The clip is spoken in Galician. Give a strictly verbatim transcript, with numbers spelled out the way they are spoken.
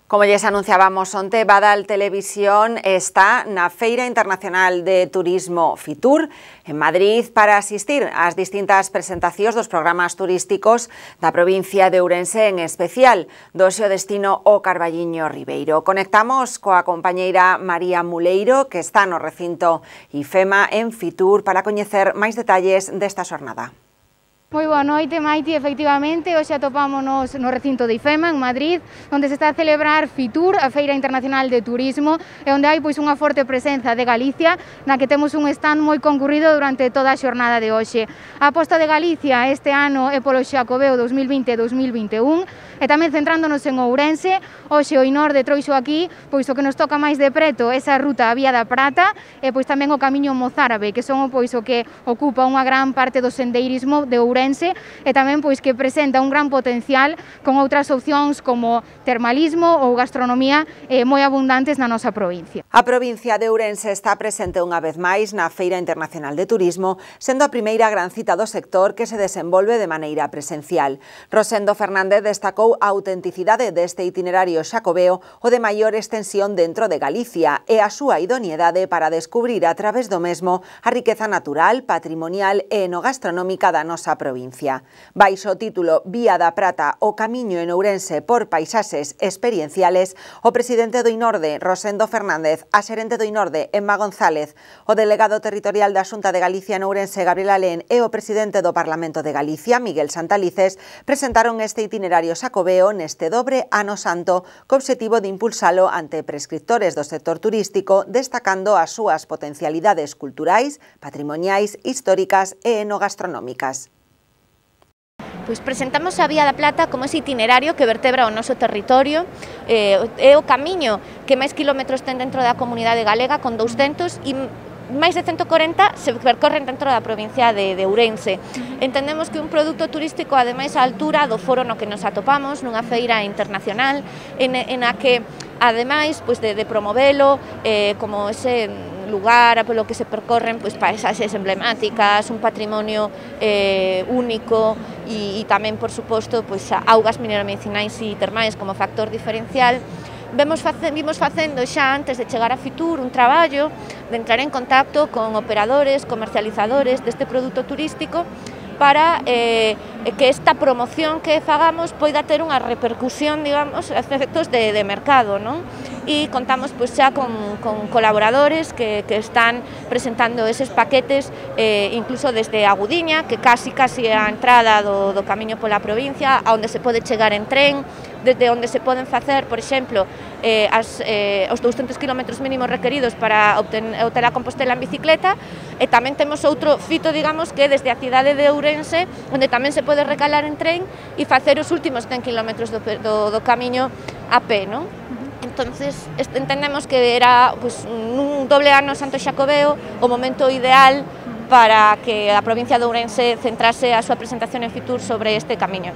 Como lles anunciábamos onte, Badal Televisión está na Feira Internacional de Turismo Fitur en Madrid para asistir ás distintas presentacións dos programas turísticos da provincia de Ourense, en especial do seu destino o Carballiño Ribeiro. Conectamos coa compañeira María Muleiro, que está no recinto IFEMA en Fitur, para coñecer máis detalles desta xornada. Moi boa noite, Maiti. Efectivamente, hoxe atopámonos no recinto de IFEMA, en Madrid, onde se está a celebrar Fitur, a Feira Internacional de Turismo, e onde hai pois unha forte presenza de Galicia, na que temos un stand moi concurrido durante toda a xornada de hoxe. A aposta de Galicia este ano é polo Xacobeo dos mil vinte e dos mil vinte e un, e tamén centrándonos en Ourense, hoxe o Inorde trouxo aquí, pois o que nos toca máis de preto, esa ruta a Vía da Prata, e pois tamén o Camiño Mozárabe, que son pois o que ocupa unha gran parte do sendeirismo de Ourense, e tamén pois que presenta un gran potencial con outras opcións como termalismo ou gastronomía eh, moi abundantes na nosa provincia. A provincia de Ourense está presente unha vez máis na Feira Internacional de Turismo, sendo a primeira gran cita do sector que se desenvolve de maneira presencial. Rosendo Fernández destacou a autenticidade deste itinerario xacobeo, o de maior extensión dentro de Galicia, e a súa idoneidade para descubrir a través do mesmo a riqueza natural, patrimonial e enogastronómica da nosa provincia. provincia. Baixo o título Vía da Prata, o camiño en Ourense por paisaxes experienciales, o presidente do Inorde, Rosendo Fernández, a xerente do Inorde, Emma González, o delegado territorial da Xunta de Galicia en Ourense, Gabriel Alén, e o presidente do Parlamento de Galicia, Miguel Santalices, presentaron este itinerario xacobeo neste dobre ano santo, co obxectivo de impulsalo ante prescriptores do sector turístico, destacando as súas potencialidades culturais, patrimoniais, históricas e enogastronómicas. Pois presentamos a Vía da Plata como ese itinerario que vertebra o noso territorio, eh, é o camiño que máis kilómetros ten dentro da comunidade galega, con douscentos, e máis de ciento corenta se percorren dentro da provincia de, de Ourense. Entendemos que un produto turístico, ademais, á altura do foro no que nos atopamos, nunha feira internacional, en, en a que, ademais, pois de, de promovelo eh, como ese lugar polo que se percorren pois, paisaxes emblemáticas, un patrimonio eh, único e, e tamén, por suposto, pois, augas mineromedicinais e termais como factor diferencial. Vemos face, vimos facendo xa antes de chegar a Fitur un traballo de entrar en contacto con operadores, comercializadores deste produto turístico para eh, que esta promoción que fagamos poida ter unha repercusión, digamos, a efectos de, de mercado, non? E contamos pois, xa con, con colaboradores que, que están presentando eses paquetes, eh, incluso desde Agudiña, que casi casi é a entrada do, do camiño pola provincia, a onde se pode chegar en tren, desde onde se poden facer, por exemplo, eh, as, eh, os douscentos kilómetros mínimos requeridos para obter, obter a Compostela en bicicleta, e tamén temos outro fito, digamos, que desde a cidade de Ourense, onde tamén se pode recalar en tren e facer os últimos cen kilómetros do, do, do camiño a pé, non? Entonces, entendemos que era pues, un doble ano santo xacobeo o momento ideal para que a provincia de Ourense centrase a súa presentación en Fitur sobre este camiño.